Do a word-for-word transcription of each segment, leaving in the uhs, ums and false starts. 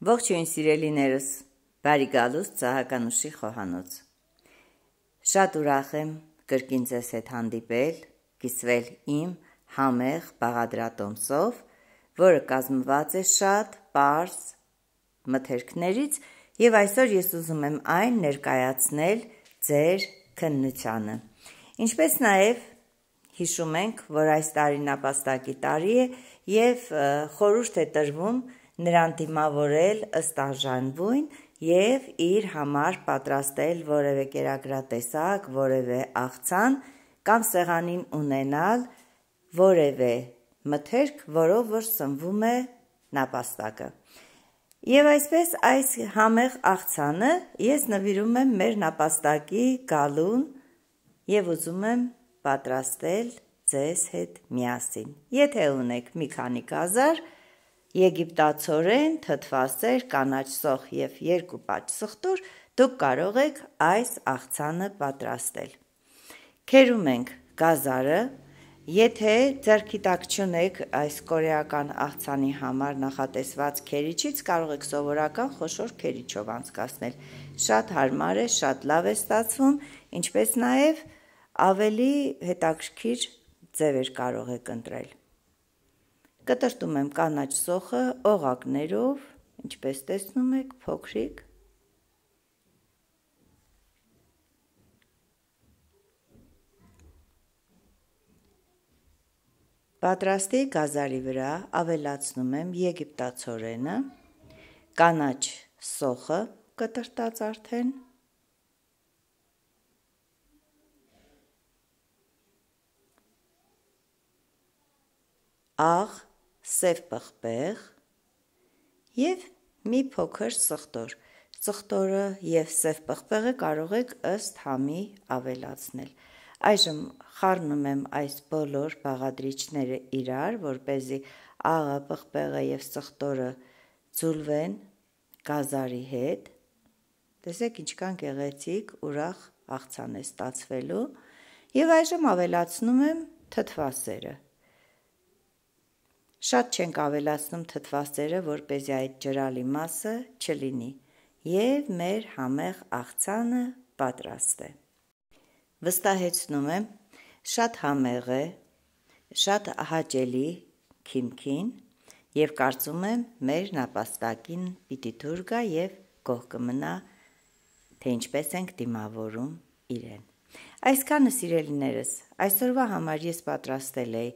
Ողջույն սիրելիներս, բարի գալուստ Սահականուշի խոհանոց։ Շատ ուրախ եմ կրկին ձեզ հետ հանդիպել, կիսվել իմ համեղ բաղադրատոմսով, որը կազմված է շատ պարզ մթերքներից, եւ այսօր ես ուզում եմ այն ներկայացնել ձեր քննությանը։ Ինչպես նաեւ հիշում ենք, որ այս տարին նապաստակի տարի է եւ խորհուրդ է տրվում նրան դիմավորել ըստ արժանվույն եւ իր համար պատրաստել որևէ կերակրատեսակ, որևէ աղցան կամ սեղանին ունենալ որևէ մթերք, որով որ սնվում է նապաստակը։ Եվ այսպես այս համեղ աղցանը ես նվիրում եմ մեր նապաստակի գալուն եւ ուզում եմ պատրաստել ձեզ հետ միասին։ Եթե ունեք մի քանի գազար, եգիպտացորեն, թթվասեր, կանաչ սոխ եւ երկու պաճ սխտուր, դուք կարող եք այս աղցանը պատրաստել։ Քերում ենք գազարը, եթե ձեռքի տակ չունեք այս կորեական աղցանի համար նախատեսված քերիչից, կարող եք սովորական խոշոր քերիչով անցկացնել։ Շատ հարմար է, շատ լավ է ստացվում, ինչպես նաեւ ավելի հետաքրքիր ձևեր կարող եք ընտրել։ Կտրտում եմ կանաչ սոխը օղակներով, ինչպես տեսնում եք, փոքրիկ։ Պատրաստի գազարի վրա ավելացնում եմ եգիպտացորենը, կանաչ սոխը կտրտած արդեն, աղ, սև պղպեղ եւ մի փոքր սխտոր։ Սխտորը եւ սև պղպեղը կարող եք ըստ համի ավելացնել։ Այժմ խառնում եմ այս բոլոր բաղադրիչները իրար, որպեսզի աղը, պղպեղը եւ սխտորը ձուլվեն գազարի հետ։ Տեսեք ինչքան գեղեցիկ ուրախ աղցան է ստացվելու։ Եվ այժմ ավելացնում եմ թթվասերը։ Շատ չենք ավելացնում թթվասերը, որպեսզի այդ ջրալի մասը չլինի, եւ մեր համեղ աղցանը պատրաստ է։ Վստահեցնում եմ, շատ համեղ է, շատ հաճելի քիմքին եւ կարծում եմ մեր նապաստակին պիտի դուր գա եւ գոհ կմնա, թե ինչպես ենք դիմավորում իրեն։ Այսքանը սիրելիներս, այսօրվա համար ես պատրաստել էի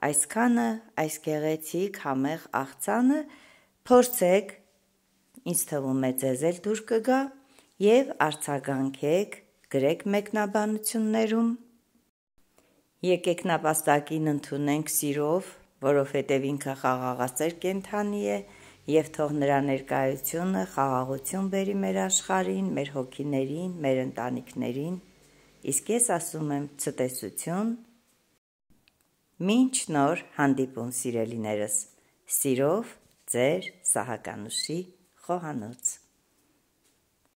այսքանը, այս գեղեցիկ համեղ աղցանը, փորձեք, ինձ թվում է ձեզ էլ դուր կգա եւ արձագանքեք, գրեք մեկնաբանություններում։ Եկեք նապաստակին ընդունենք սիրով, որովհետև ինքը խաղաղասեր կենդանի է եւ թող նրա ներկայությունը խաղաղություն բերի մեր աշխարհին, մեր հոգիներին, մեր ընտանիքներին։ Իսկ ես ասում եմ ցտեսություն։ Մինչ նոր հանդիպում սիրելիներս, սիրով ձեր Սահականուշի խոհանոց։